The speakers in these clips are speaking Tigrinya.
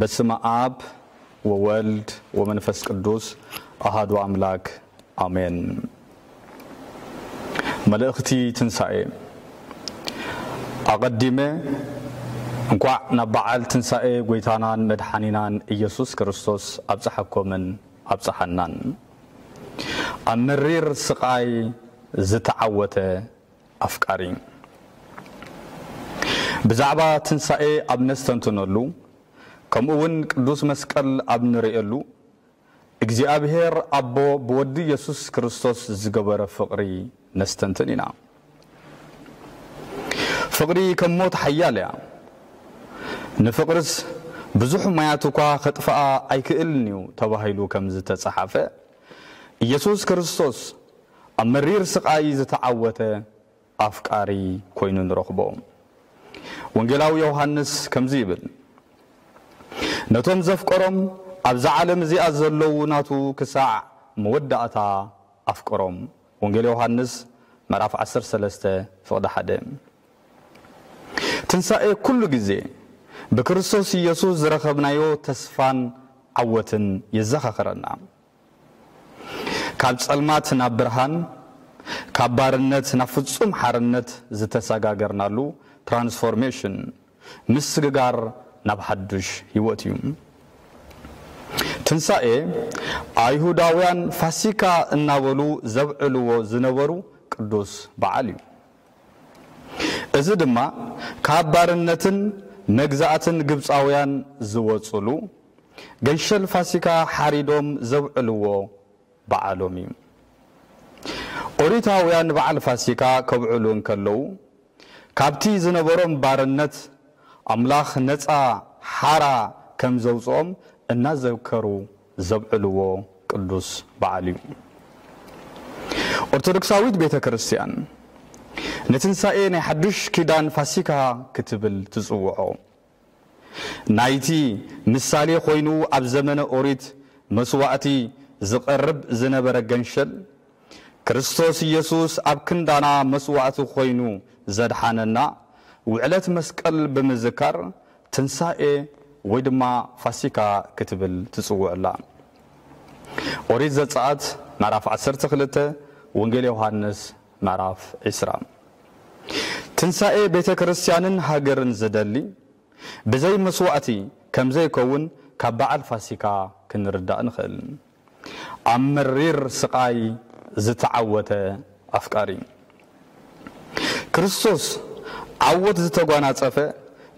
በስመ አብ ወወልድ ወመንፈስ ቅዱስ አሃዱ አምላክ አሜን። መልእኽቲ ትንሣኤ። ኣቐዲመ እንኳዕ ናብ በዓል ትንሣኤ ጐይታናን መድሓኒናን ኢየሱስ ክርስቶስ ኣብጽሓኮምን ኣብጽሓናን። ኣብ መሪር ስቓይ ዝተዓወተ ኣፍቃሪ። ብዛዕባ ትንሳኤ ኣብ ነስተንትነሉ፣ ከምኡ እውን ቅዱስ መስቀል ኣብ ንርእየሉ፣ እግዚኣብሔር ኣቦ ብወዱ ኢየሱስ ክርስቶስ ዝገበረ ፍቕሪ ነስተንትን ኢና። ፍቕሪ ከም ሞት ሓያል እያ። ንፍቕርስ ብዙሕ ማያት እኳ ከጥፍኣ ኣይክእልን እዩ ተባሂሉ ከም ዝተጸሓፈ፣ ኢየሱስ ክርስቶስ ኣብ መሪር ስቓይ ዝተዓወተ ኣፍቃሪ ኮይኑ ንረኽቦ። ወንጌላዊ ዮሃንስ ከምዚ ይብል፣ ነቶም ዘፍቀሮም ኣብዛ ዓለም እዚኣ ዘለዉ ናቱ ክሳዕ መወዳእታ ኣፍቀሮም። ወንጌል ዮሃንስ ምዕራፍ ዓሰርተ ሰለስተ ፍቕዲ ሓደ። ትንሳኤ ኩሉ ግዜ ብክርስቶስ ኢየሱስ ዝረኸብናዮ ተስፋን ዓወትን የዘኻኽረና። ካብ ጸልማት ናብ ብርሃን፣ ካብ ባርነት ናብ ፍጹም ሓርነት ዝተሰጋገርናሉ ትራንስፎርሜሽን፣ ምስግጋር ናብ ሓዱሽ ህይወት እዩ። ትንሳኤ ኣይሁዳውያን ፋሲካ እናበሉ ዘብዕልዎ ዝነበሩ ቅዱስ በዓል እዩ። እዚ ድማ ካብ ባርነትን መግዛእትን ግብጻውያን ዝወጹሉ ገንሸል ፋሲካ ሓሪዶም ዘብዕልዎ በዓሎም እዩ። ኦሪታውያን በዓል ፋሲካ ከብዕሉ እንከለዉ፣ ካብቲ ዝነበሮም ባርነት ኣምላኽ ነጻ ሓራ ከም ዘውጽኦም እናዘከሩ ዘብዕልዎ ቅዱስ በዓል እዩ። ኦርቶዶክሳዊት ቤተ ክርስቲያን ንትንሳኤ ናይ ሓዱሽ ኪዳን ፋሲካ ክትብል ትጽውዖ። ናይቲ ምሳሌ ኮይኑ ኣብ ዘመነ ኦሪት መስዋዕቲ ዝቐርብ ዝነበረ ገንሸል፣ ክርስቶስ ኢየሱስ ኣብ ክንዳና መስዋዕቲ ኮይኑ ዘድሓነና ውዕለት መስቀል ብምዝካር ትንሳኤ ወይ ድማ ፋሲካ ክትብል ትጽውዕ ኣላ። ኦሪት ዘጸኣት ምዕራፍ ዓሰርተ ክልተ፣ ወንጌል ዮሃንስ ምዕራፍ ዕስራ። ትንሳኤ ቤተ ክርስቲያንን ሃገርን ዝደሊ ብዘይ መስዋዕቲ ከም ዘይከውን ካብ በዓል ፋሲካ ክንርዳእ ንኽእል። ኣብ መሪር ስቓይ ዝተዓወተ ኣፍቃሪ። ክርስቶስ ዓወት ዝተጓናጸፈ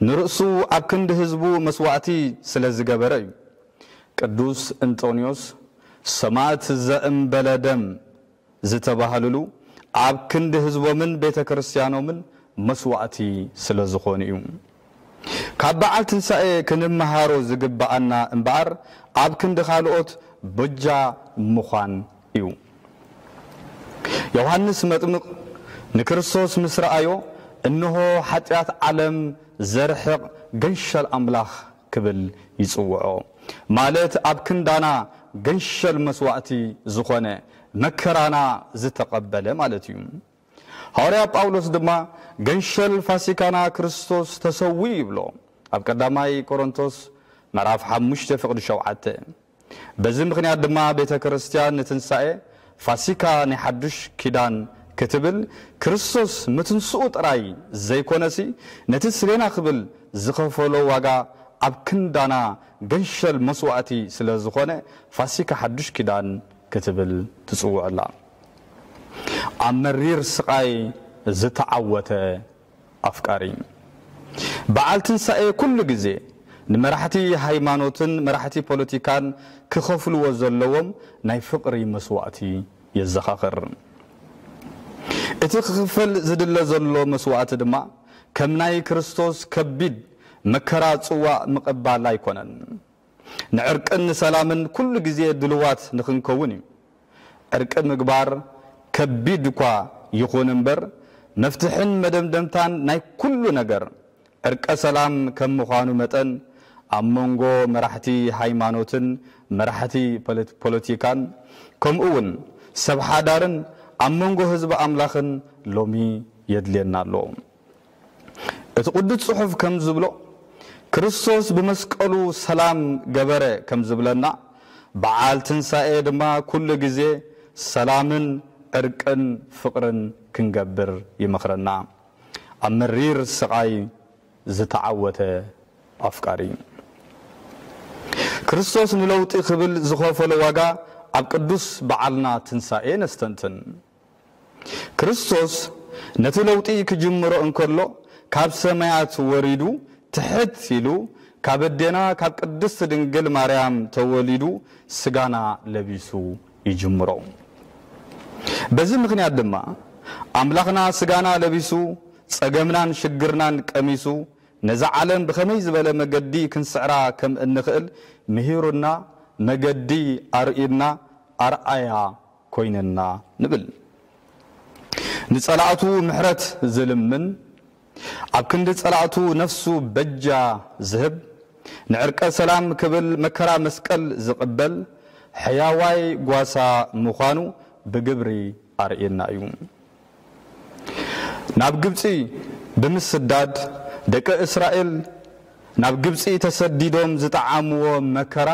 ንርእሱ ኣብ ክንዲ ህዝቡ መስዋዕቲ ስለ ዝገበረ እዩ። ቅዱስ እንጦንዮስ ሰማዕት ዘእምበለ ደም ዝተባህልሉ ኣብ ክንዲ ህዝቦምን ቤተ ክርስቲያኖምን መስዋዕቲ ስለ ዝኾኑ እዩ። ካብ በዓል ትንሳኤ ክንመሃሮ ዝግብኣና እምበኣር ኣብ ክንዲ ካልኦት በጃ ምዃን እዩ። ዮሃንስ መጥምቕ ንክርስቶስ ምስ ረኣዮ፣ እንሆ ሓጢኣት ዓለም ዘርሕቕ ገንሸል ኣምላኽ ክብል ይጽውዖ። ማለት ኣብ ክንዳና ገንሸል መስዋዕቲ ዝኾነ መከራና ዝተቐበለ ማለት እዩ። ሃዋርያ ጳውሎስ ድማ ገንሸል ፋሲካና ክርስቶስ ተሰዊኡ ይብሎ ኣብ ቀዳማይ ቆሮንቶስ ምዕራፍ ሓሙሽተ ፍቕዲ ሸውዓተ። በዚ ምኽንያት ድማ ቤተ ክርስቲያን ንትንሳኤ ፋሲካ ናይ ሓዱሽ ኪዳን ክትብል ክርስቶስ ምትንስኡ ጥራይ ዘይኮነሲ ነቲ ስሌና ክብል ዝኸፈሎ ዋጋ ኣብ ክንዳና ገንሸል መስዋዕቲ ስለ ዝኾነ ፋሲካ ሓዱሽ ኪዳን ክትብል ትጽውዕ ኣላ። ኣብ መሪር ስቓይ ዝተዓወተ ኣፍቃሪ። በዓል ትንሳኤ ኩሉ ግዜ ንመራሕቲ ሃይማኖትን መራሕቲ ፖለቲካን ክኸፍልዎ ዘለዎም ናይ ፍቕሪ መስዋዕቲ የዘኻኽር። እቲ ክኽፈል ዝድለ ዘሎ መስዋዕቲ ድማ ከም ናይ ክርስቶስ ከቢድ መከራ ጽዋእ ምቕባል ኣይኮነን። ንዕርቅን ንሰላምን ኩሉ ግዜ ድልዋት ንኽንከውን እዩ። ዕርቂ ምግባር ከቢድ እኳ ይኹን እምበር፣ መፍትሕን መደምደምታን ናይ ኩሉ ነገር ዕርቀ ሰላም ከም ምዃኑ መጠን፣ ኣብ መንጎ መራሕቲ ሃይማኖትን መራሕቲ ፖለቲ-፣ ፖለቲካን፣ ከምኡ እውን ሰብ ሓዳርን ኣብ መንጎ ህዝቢ ኣምላኽን ሎሚ የድልየና ኣሎ። እቲ ቅዱስ ጽሑፍ ከም ዝብሎ፣ ክርስቶስ ብመስቀሉ ሰላም ገበረ ከም ዝብለና፣ በዓል ትንሳኤ ድማ ኩሉ ግዜ ሰላምን ዕርቅን ፍቕርን ክንገብር ይመኽረና። ኣብ መሪር ስቓይ ዝተዓወተ ኣፍቃሪ። ክርስቶስ ንለውጢ ክብል ዝኸፈሎ ዋጋ ኣብ ቅዱስ በዓልና ትንሳኤ ነስተንትን። ክርስቶስ ነቲ ለውጢ ክጅምሮ እንከሎ፣ ካብ ሰማያት ወሪዱ ትሕት ኢሉ፣ ካብ ኣዴና ካብ ቅድስት ድንግል ማርያም ተወሊዱ ስጋና ለቢሱ ይጅምሮ። በዚ ምኽንያት ድማ ኣምላኽና ስጋና ለቢሱ፣ ጸገምናን ሽግርናን ቀሚሱ፣ ነዛ ዓለም ብኸመይ ዝበለ መገዲ ክንስዕራ ከም እንኽእል ምሂሩና፣ መገዲ ኣርእዩና፣ ኣርኣያ ኮይነና ንብል። ንጸላእቱ ምሕረት ዝልምን፣ ኣብ ክንዲ ጸላእቱ ነፍሱ በጃ ዝህብ፣ ንዕርቀ ሰላም ክብል መከራ መስቀል ዝቕበል ሕያዋይ ጓሳ ምዃኑ ብግብሪ ኣርእየና እዩ። ናብ ግብጺ ብምስዳድ፣ ደቂ እስራኤል ናብ ግብጺ ተሰዲዶም ዝጠዓምዎ መከራ፣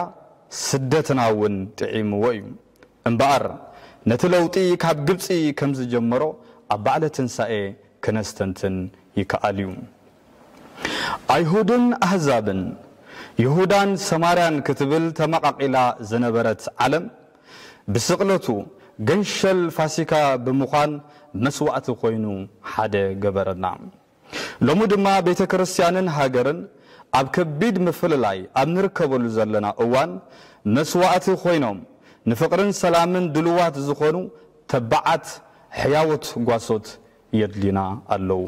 ስደትና እውን ጥዒምዎ እዩ። እምበኣር፣ ነቲ ለውጢ ካብ ግብጺ ከም ዝጀመሮ ኣብ በዓለ ትንሳኤ ክነስተንትን ይከኣል እዩ። ኣይሁድን ኣህዛብን፣ ይሁዳን ሰማርያን ክትብል ተመቓቒላ ዝነበረት ዓለም፣ ብስቕለቱ ገንሸል ፋሲካ ብምዃን መስዋእቲ ኮይኑ ሓደ ገበረና። ሎሚ ድማ ቤተ ክርስቲያንን ሃገርን ኣብ ከቢድ ምፍልላይ ኣብ ንርከበሉ ዘለና እዋን፣ መስዋእቲ ኮይኖም ንፍቕርን ሰላምን ድልዋት ዝኾኑ ተባዓት ሕያዎት ጓሶት የድልዩና ኣለዉ።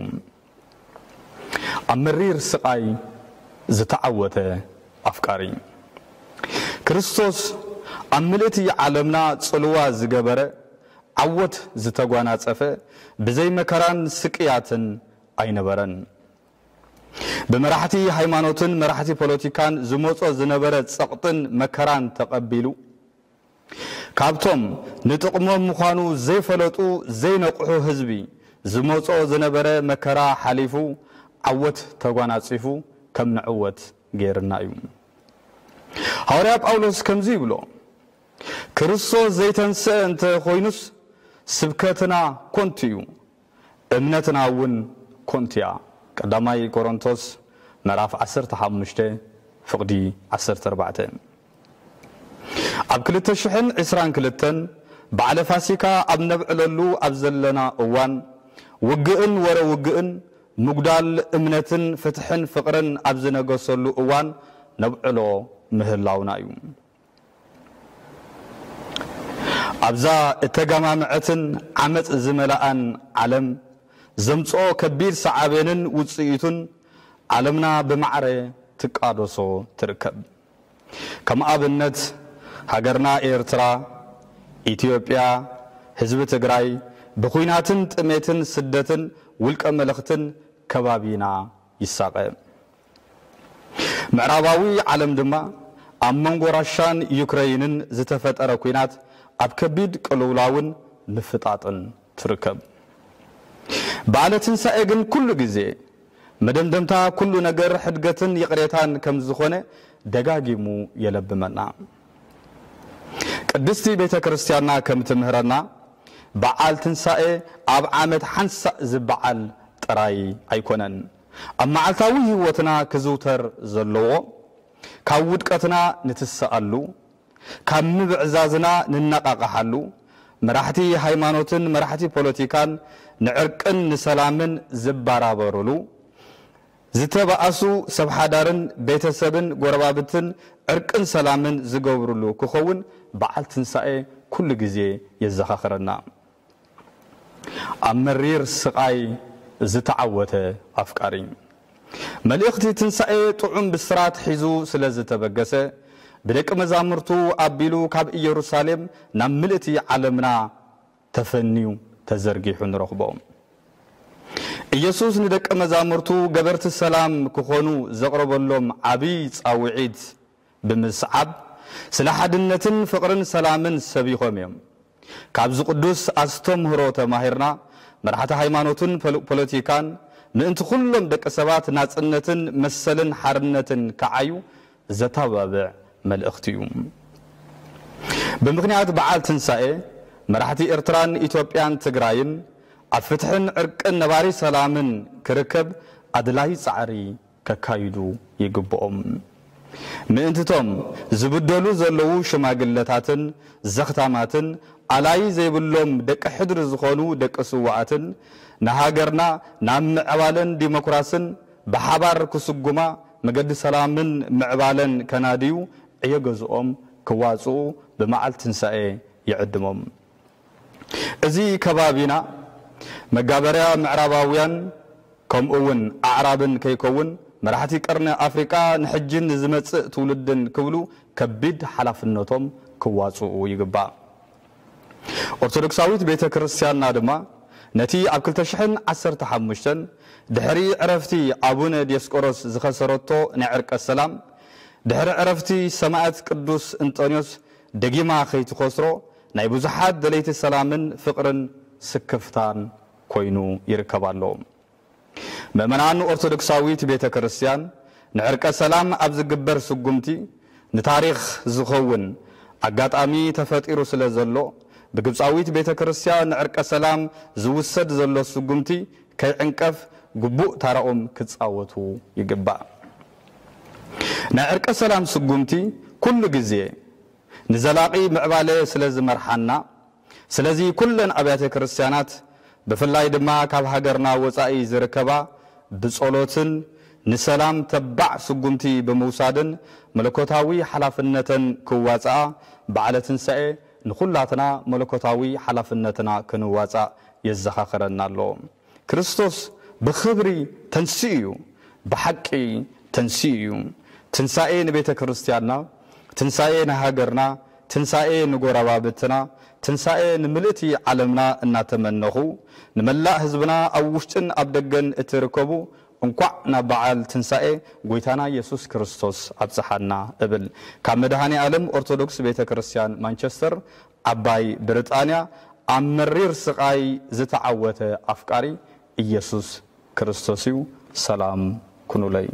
ኣብ መሪር ስቓይ ዝተዓወተ ኣፍቃሪ። ክርስቶስ ኣብ ምልእቲ ዓለምና ጽልዋ ዝገበረ፣ ዓወት ዝተጓናጸፈ፣ ብዘይ መከራን ስቅያትን ኣይነበረን። ብመራሕቲ ሃይማኖትን መራሕቲ ፖለቲካን ዝመጾ ዝነበረ ጸቕጥን መከራን ተቐቢሉ፣ ካብቶም ንጥቕሞም ምዃኑ ዘይፈለጡ ዘይነቕሑ ህዝቢ ዝመጾ ዝነበረ መከራ ሓሊፉ፣ ዓወት ተጓናጺፉ ከም ንዕወት ገይርና እዩ። ሃዋርያ ጳውሎስ ከምዚ ይብሎ፣ ክርስቶስ ዘይተንስአ እንተ ኾይኑስ ስብከትና ኮንቱ እዩ፣ እምነትና እውን ኮንቱ እያ። ቀዳማይ ቆሮንቶስ ምዕራፍ ዓሰርተ ሓሙሽተ ፍቕዲ ዓሰርተ ኣርባዕተ። ኣብ ክልተ ሽሕን ዕስራን ክልተን በዓለ ፋሲካ ኣብ ነብዕለሉ ኣብ ዘለና እዋን፣ ውግእን ወረ ውግእን፣ ምጉዳል እምነትን ፍትሕን ፍቕርን ኣብ ዝነገሰሉ እዋን ነብዕሎ ምህላውና እዩ። ኣብዛ እተጋማምዐትን ዓመጽ ዝመልኣን ዓለም ዘምጽኦ ከቢድ ሰዓቤንን ውጽኢቱን ዓለምና ብማዕረ ትቃደሶ ትርከብ። ከም ኣብነት፣ ሃገርና ኤርትራ፣ ኢትዮጵያ፣ ህዝቢ ትግራይ ብኹናትን ጥሜትን ስደትን ውልቀ መለኽትን ከባቢና ይሳቐ። ምዕራባዊ ዓለም ድማ ኣብ መንጎ ራሻን ዩክረይንን ዝተፈጠረ ኲናት ኣብ ከቢድ ቅልውላውን ምፍጣጥን ትርከብ። በዓለ ትንሳኤ ግን ኩሉ ግዜ መደምደምታ ኩሉ ነገር ሕድገትን ይቕሬታን ከም ዝኾነ ደጋጊሙ የለብመና። ቅድስቲ ቤተ ክርስቲያንና ከም ትምህረና፣ በዓል ትንሳኤ ኣብ ዓመት ሓንሳእ ዝበዓል ጥራይ ኣይኮነን። ኣብ መዓልታዊ ህይወትና ክዝውተር ዘለዎ፣ ካብ ውድቀትና ንትስኣሉ፣ ካብ ምብዕዛዝና ንነቓቕሓሉ፣ መራሕቲ ሃይማኖትን መራሕቲ ፖለቲካን ንዕርቅን ንሰላምን ዝባራበሩሉ፣ ዝተባኣሱ ሰብ ሓዳርን ቤተሰብን ጎረባብትን ዕርቅን ሰላምን ዝገብሩሉ ክኸውን በዓል ትንሳኤ ኩሉ ግዜ የዘኻኽረና። ኣብ መሪር ስቓይ ዝተዓወተ ኣፍቃሪ። መልእኽቲ ትንሳኤ ጥዑም ብስራት ሒዙ ስለ ዝተበገሰ፣ ብደቂ መዛሙርቱ ኣቢሉ ካብ ኢየሩሳሌም ናብ ምልእቲ ዓለምና ተፈንዩ ተዘርጊሑ ንረኽቦ። ኢየሱስ ንደቂ መዛሙርቱ ገበርቲ ሰላም ክኾኑ ዘቕረበሎም ዓብዪ ጻውዒት ብምስዓብ፣ ስለ ሓድነትን ፍቕርን ሰላምን ሰቢኾም እዮም። ካብዚ ቅዱስ ኣስተምህሮ ተማሂርና፣ መራሕቲ ሃይማኖትን ፖሎ-፣ ፖለቲካን፣ ምእንቲ ኩሎም ደቂ ሰባት ናጽነትን መሰልን ሓርነትን ክዓዩ ዘተባብዕ መልእኽቲ እዩ። ብምኽንያት በዓል ትንሳኤ፣ መራሕቲ ኤርትራን ኢትዮጵያን ትግራይን ኣብ ፍትሕን ዕርቅን ነባሪ ሰላምን ክርከብ ኣድላይ ጻዕሪ ከካይዱ ይግብኦም። ምእንትቶም ዝብደሉ ዘለዉ ሽማግለታትን ዘኽታማትን ኣላይ ዘይብሎም ደቂ ሕድሪ ዝኾኑ ደቂ ስውኣትን ንሃገርና ናብ ምዕባለን ዲሞክራስን ብሓባር ክስጉማ መገዲ ሰላምን ምዕባለን ከናድዩ ዕዮ ገዝኦም ክዋፅኡ ብመዓልቲ ትንሳኤ ይዕድሞም። እዚ ከባቢና መጋበርያ ምዕራባውያን ከምኡ እውን ኣዕራብን ከይከውን መራሕቲ ቀርኒ ኣፍሪቃ ንሕጅን ንዝመጽእ ትውልድን ክብሉ ከቢድ ሓላፍነቶም ክዋጽኡ ይግባእ። ኦርቶዶክሳዊት ቤተ ክርስቲያንና ድማ ነቲ ኣብ ክልተ ሽሕን ዓሰርተ ሓሙሽተን ድሕሪ ዕረፍቲ ኣቡነ ዲዮስቆሮስ ዝኸሰረቶ ናይ ዕርቀ ሰላም፣ ድሕሪ ዕረፍቲ ሰማዕት ቅዱስ እንጠንዮስ ደጊማ ከይትኸስሮ ናይ ብዙሓት ደለይቲ ሰላምን ፍቕርን ስክፍታን ኮይኑ ይርከብ ኣሎ። ምእመናን ኦርቶዶክሳዊት ቤተ ክርስቲያን ንዕርቀ ሰላም ኣብ ዝግበር ስጉምቲ ንታሪኽ ዝኸውን ኣጋጣሚ ተፈጢሩ ስለ ዘሎ፣ ብግብፃዊት ቤተ ክርስቲያን ንዕርቀ ሰላም ዝውሰድ ዘሎ ስጉምቲ ከይዕንቀፍ ግቡእ ታራኦም ክፃወቱ ይግባእ። ናይ ዕርቀ ሰላም ስጉምቲ ኩሉ ግዜ ንዘላቒ ምዕባለ ስለ ዝመርሓና፣ ስለዚ ኩለን ኣብያተ ክርስቲያናት ብፍላይ ድማ ካብ ሃገርና ወጻኢ ዝርከባ ብጸሎትን ንሰላም ተባዕ ስጉምቲ ብምውሳድን መለኮታዊ ሓላፍነተን ክዋጽኣ በዓለ ትንሳኤ ንኹላትና መለኮታዊ ሓላፍነትና ክንዋጻእ የዘኻኽረና ኣሎ። ክርስቶስ ብኽብሪ ተንሲኡ እዩ፣ ብሓቂ ተንሲኡ እዩ። ትንሳኤ ንቤተ ክርስቲያንና፣ ትንሳኤ ንሃገርና፣ ትንሳኤ ንጎረባብትና፣ ትንሳኤ ንምልእቲ ዓለምና እናተመነኹ፣ ንመላእ ህዝብና ኣብ ውሽጥን ኣብ ደገን እትርከቡ እንኳዕ ናብ በዓል ትንሳኤ ጎይታና ኢየሱስ ክርስቶስ ኣብጽሓና እብል። ካብ መድኃኔ ዓለም ኦርቶዶክስ ቤተ ክርስቲያን ማንቸስተር ዓባይ ብሪጣንያ ኣብ መሪር ስቓይ ዝተዓወተ ኣፍቃሪ ኢየሱስ ክርስቶስ እዩ። ሰላም ኩኑለይ።